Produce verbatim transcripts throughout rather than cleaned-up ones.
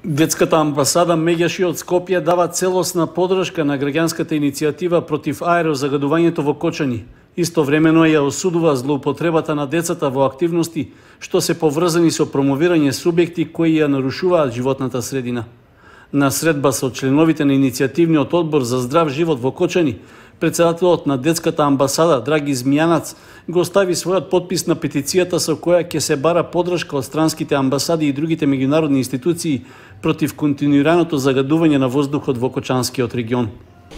Детската амбасада Меѓаши од Скопје дава целосна подршка на граѓанската иницијатива против аерозагадувањето во Кочани. Истовремено ја осудува злоупотребата на децата во активности што се поврзани со промовирање субјекти кои ја нарушуваат животната средина. На средба со членовите на иницијативниот одбор за здрав живот во Кочани, председателот на детската амбасада Драги Змијанац го стави својот подпис на петицијата со која ќе се бара подршка од странските амбасади и другите меѓународни институции против континуираното загадување на воздухот во Кочанскиот регион.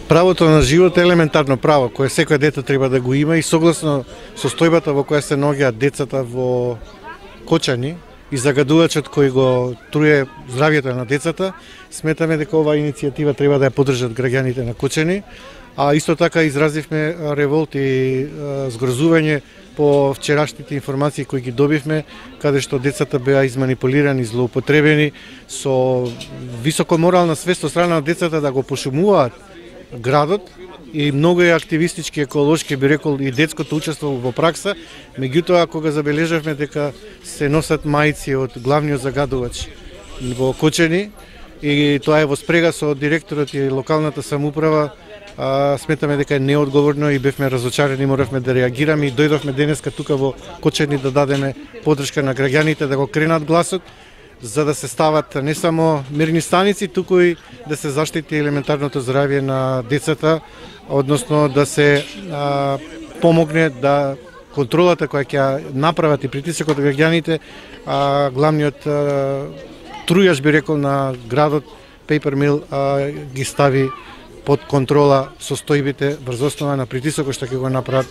Правото на живот е елементарно право кое секој дете треба да го има и согласно состојбата во која се наоѓаат децата во Кочани и загадувачот кој го труе здравјето на децата, сметаме дека оваа иницијатива треба да ја поддржат граѓаните на Кочани, а исто така изразивме револт и згрозување по вчерашните информации кои ги добивме, каде што децата беа изманипулирани, злоупотребени со високо морална свест од страна на децата да го пошумуваат градот и многу е активистички, еколошки, би рекол, и детското учество во пракса. Меѓутоа, кога забележавме дека се носат мајци од главниот загадувач во Кочани и тоа е во спрега со директорот и локалната самоуправа, А, сметаме дека е неодговорно и бевме разочарени, моравме да реагираме и дојдовме денеска тука во Кочани да дадеме поддршка на граѓаните да го кренат гласот, за да се стават не само мерни станици, туку и да се заштити елементарното здравје на децата, односно да се а, помогне да контролата која ќе направат и притисокот од граѓаните, а, главниот а, трујаш би рекол на градот Paper Mill а, ги стави под контрола состојбите врз основа на притисокот што ќе го направат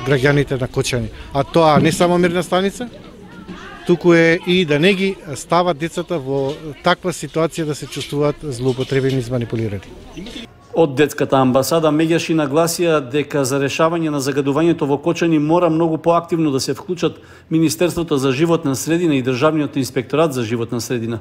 граѓаните на Кочани. А тоа не само мирна станица, туку е и да не ги стават децата во таква ситуација да се чувствуваат злоупотребени и манипулирани. Од детската амбасада Меѓаши нагласија дека за решавање на загадувањето во Кочани мора многу поактивно да се вклучат Министерството за животна средина и Државниот инспекторат за животна средина.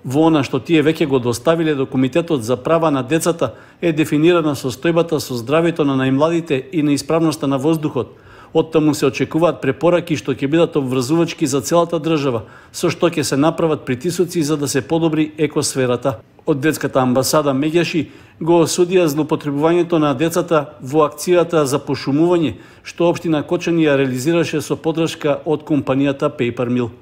Во она што тие веќе го доставиле до Комитетот за права на децата е дефинирана состојбата со здравјето на најмладите и на исправноста на воздухот. Од таму се очекуваат препораки што ќе бидат обврзувачки за целата држава, со што ќе се направат притисоци за да се подобри екосферата. Од детската амбасада Меѓаши го осудија злоупотребувањето на децата во акцијата за пошумување што општина Кочани ја реализираше со поддршка од компанијата Paper Mill.